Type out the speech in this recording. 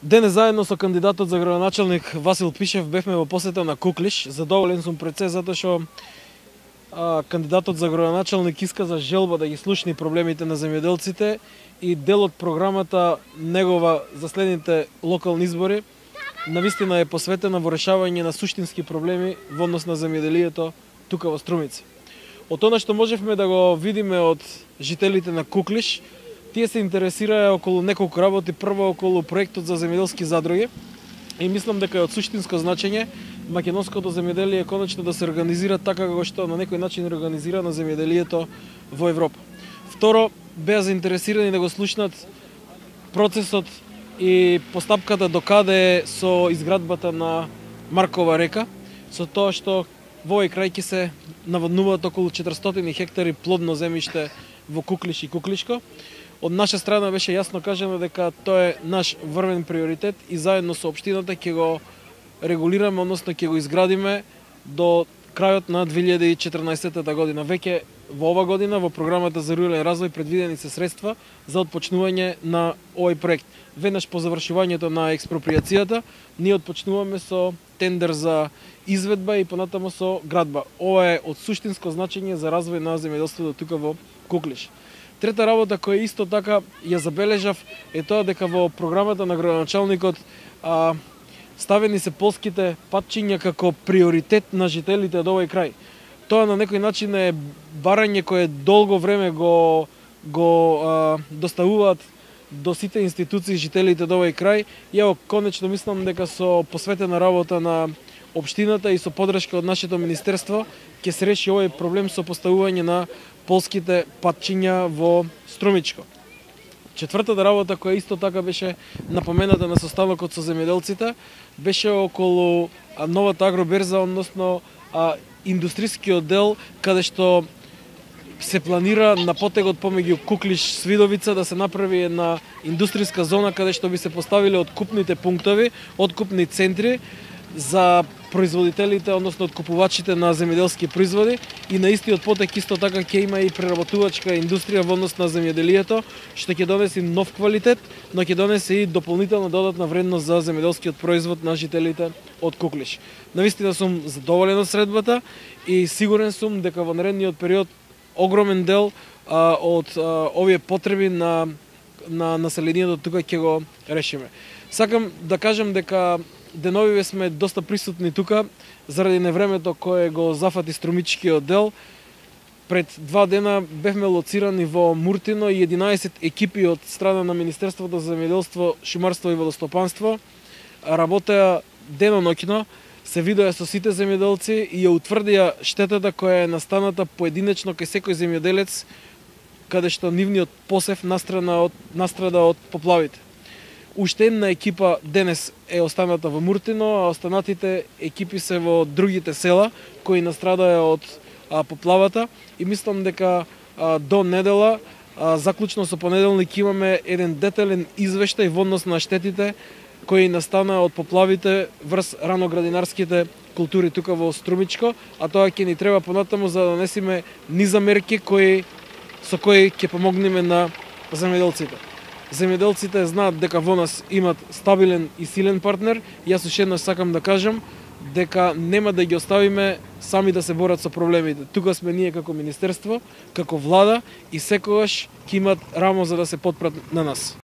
Денес заедно со кандидатот за градоначалник Васил Пишев бевме во посета на Куклиш. Задоволен сум пред се затоа што кандидатот за градоначалник исказа желба да ги слушне проблемите на земјоделците и дел од програмата негова за следните локални избори навистина е посветена во решавање на суштински проблеми во однос на земјоделието тука во Струмица. Од тоа што можевме да го видиме од жителите на Куклиш, тие се интересираа околу неколку работи, прво околу проектот за земјоделски задруги и мислам дека е од суштинско значење македонското земјоделие конечно да се организира така како што на некој начин организира на земјоделието во Европа. Второ, беа заинтересирани да го слушнат процесот и постапката до каде е со изградбата на Маркова река, со тоа што во овој крај ќе се наводнуваат околу 400 хектари плодно земјиште во Куклиш и Куклишко. Од наша страна беше јасно кажано дека тоа е наш врвен приоритет и заедно со општината ќе го регулираме, односно ќе го изградиме до крајот на 2014 година. Веќе во ова година во програмата за рурален развој предвидени се средства за отпочнување на овој проект. Веднаш по завршувањето на експроприацијата, ние отпочнуваме со тендер за изведба и понатаму со градба. Ова е од суштинско значење за развој на земјоделството тука во Куклиш. Трета работа која исто така ја забележав е тоа дека во програмата на градоначалникот ставени се полските патчиња како приоритет на жителите од овој крај. Тоа на некој начин е барање кое долго време го доставуваат до сите институции жителите од овој крај. Ја конечно мислам дека со посветена работа на општината и со подршка од нашето министерство ќе се реши овој проблем со поставување на полските патчиња во Струмичко. Четвртата работа која исто така беше напомената на состанокот со земјоделците беше околу новата агроберза, односно индустрискиот дел каде што се планира на потегот помеѓу Куклиш Свидовица да се направи една индустријска зона каде што би се поставиле откупните пунктови, откупни центри за производителите, односно откупувачите на земјоделски производи и на истиот потек исто така ќе има и преработувачка индустрија во однос на земјоделието, што ќе донесе нов квалитет, но ќе донесе и дополнителна додатна вредност за земјоделскиот производ на жителите од Куклиш. Навистина сум задоволен од средбата и сигурен сум дека во наредниот период огромен дел од овие потреби на населението тука ќе го решиме. Сакам да кажам дека деновиве сме доста присутни тука заради невремето кое го зафати Струмичкиот дел. Пред 2 дена бевме лоцирани во Муртино и 11 екипи од страна на Министерството за земјоделство, шумарство и водостопанство работеа деноноќно, се видоа со сите земјоделци и ја утврдија штетата која е настаната поединечно кај секој земјоделец каде што нивниот посев настрада од поплавите. Уште една екипа денес е останата во Муртино, а останатите екипи се во другите села кои настрадаа од поплавата и мислам дека до недела, заклучно со понеделник, имаме еден детален извештај во однос на штетите кои настанаа од поплавите врз раноградинарските култури тука во Струмичко, а тоа ќе ни треба понатаму за да донесеме низа мерки со кои ќе помогнеме на земјоделците. Земјоделците знаат дека во нас имат стабилен и силен партнер. Јас уште еднаш сакам да кажам дека нема да ги оставиме сами да се борат со проблемите. Тука сме ние како министерство, како влада и секогаш ќе имат рамо за да се потпрат на нас.